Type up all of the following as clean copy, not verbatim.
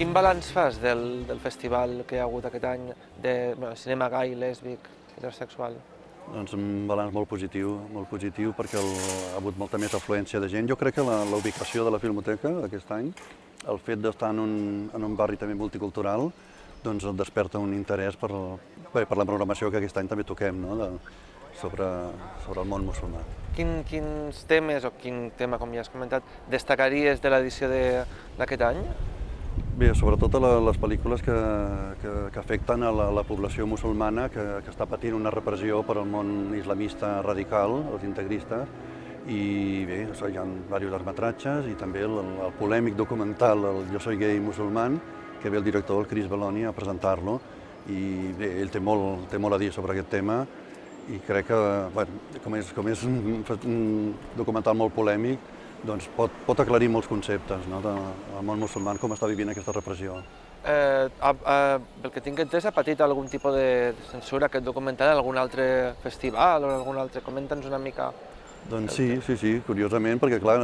Quin balanç fas del festival que hi ha hagut aquest any de cinema gai, lèsbic, heterosexual? Doncs un balanç molt positiu perquè ha hagut molta més afluència de gent. Jo crec que la ubicació de la Filmoteca aquest any, el fet d'estar en un barri també multicultural, doncs et desperta un interès per la programació que aquest any també toquem, no? sobre el món musulmà. Quins temes, o quin tema, com ja has comentat, destacaries de l'edició d'aquest any? Bé, sobretot les pel·lícules que afecten a la població musulmana que està patint una repressió per al món islamista radical, els integristes, i bé, hi ha diversos llargmetratges i també el polèmic documental el Jo soy gay musulmán, que ve el director, el Chris Belloni, a presentar-lo, i bé, ell té molt a dir sobre aquest tema, i crec que, com és un documental molt polèmic, doncs pot aclarir molts conceptes del món musulmà, com està vivint aquesta repressió. Pel que tinc entès, ha patit algun tipus de censura aquest documental en algun altre festival o en algun altre? Comenta'ns una mica. Doncs sí, curiosament, perquè clar,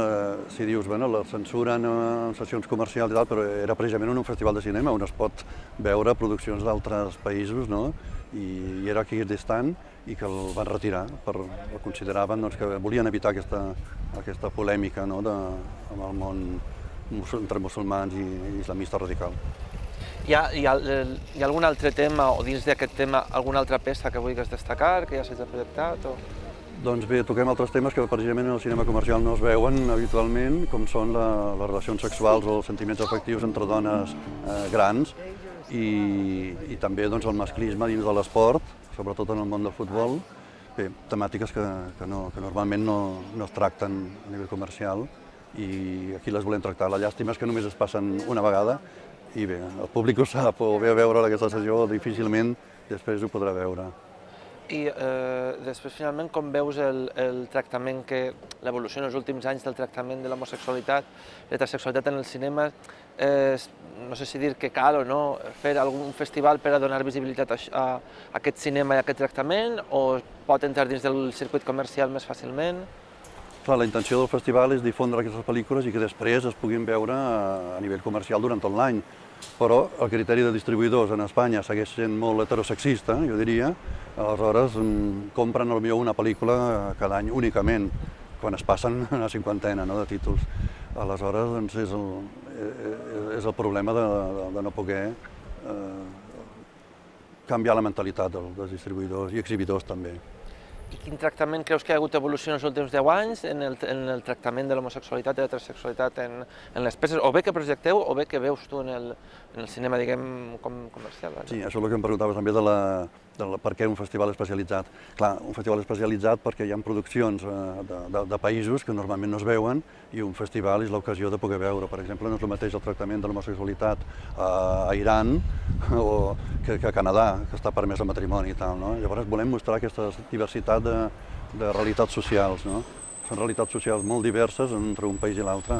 si dius, bueno, la censuren en sessions comercials i tal, però era precisament en un festival de cinema on es pot veure produccions d'altres països, no? I era aquí distant i que el van retirar, el consideraven que volien evitar aquesta polèmica amb el món entre musulmans i islamista radical. Hi ha algun altre tema, o dins d'aquest tema, alguna altra peça que vulguis destacar, que ja s'hagi projectat? Doncs bé, toquem altres temes que precisament en el cinema comercial no es veuen habitualment, com són les relacions sexuals o els sentiments afectius entre dones grans i també el masclisme dins de l'esport, sobretot en el món del futbol. Bé, temàtiques que normalment no es tracten a nivell comercial i aquí les volem tractar. La llàstima és que només es passen una vegada i bé, el públic ho sap, o ve a veure aquesta sessió o difícilment després ho podrà veure. I després, finalment, com veus el tractament, l'evolució en els últims anys del tractament de l'homosexualitat, l'heterosexualitat en el cinema? No sé si dir que cal o no fer algun festival per a donar visibilitat a aquest cinema i a aquest tractament, o pot entrar dins del circuit comercial més fàcilment? Clar, la intenció del festival és difondre aquestes pel·lícules i que després es puguin veure a nivell comercial durant tot l'any. Però el criteri de distribuïdors en Espanya segueix sent molt heterosexista, jo diria. Aleshores, compren potser una pel·lícula cada any únicament, quan es passen una cinquantena de títols. Aleshores, és el problema de no poder canviar la mentalitat dels distribuïdors i exhibidors també. I quin tractament creus que hi ha hagut evolució en els últims 10 anys en el tractament de l'homosexualitat i l'heterosexualitat en les peces, o bé que projecteu o bé que veus tu en el cinema, diguem, comercial? Sí, això és el que em preguntaves també de per què un festival especialitzat. Clar, un festival especialitzat perquè hi ha produccions de països que normalment no es veuen i un festival és l'ocasió de poder veure. Per exemple, no és el mateix el tractament de l'homosexualitat a Iran o que a Canadà, que està permès el matrimoni i tal. Llavors volem mostrar aquesta diversitat de realitats socials. Són realitats socials molt diverses entre un país i l'altre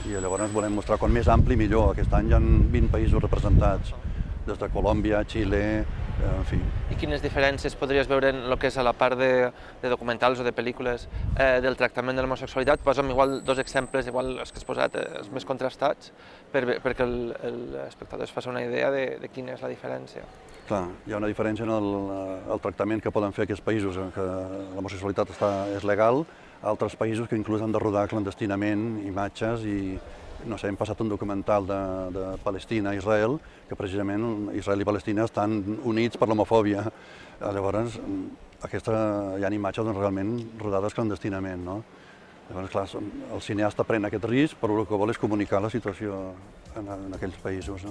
i llavors volem mostrar com més ampli millor. Aquest any hi ha 20 països representats, des de Colòmbia, Xile, en fi. I quines diferències podries veure en el que és a la part de documentals o de pel·lícules del tractament de l'homosexualitat? Posa'm igual dos exemples, igual els que has posat, els més contrastats, perquè l'espectador es faci una idea de quina és la diferència. Clar, hi ha una diferència en el tractament que poden fer aquests països en què l'homosexualitat és legal, altres països que inclús han de rodar clandestinament imatges i, no sé, hem passat un documental de Palestina a Israel, que precisament Israel i Palestina estan units per l'homofòbia. Llavors, hi ha imatges realment rodades clandestinament. Llavors, clar, el cineasta pren aquest risc, però el que vol és comunicar la situació en aquells països.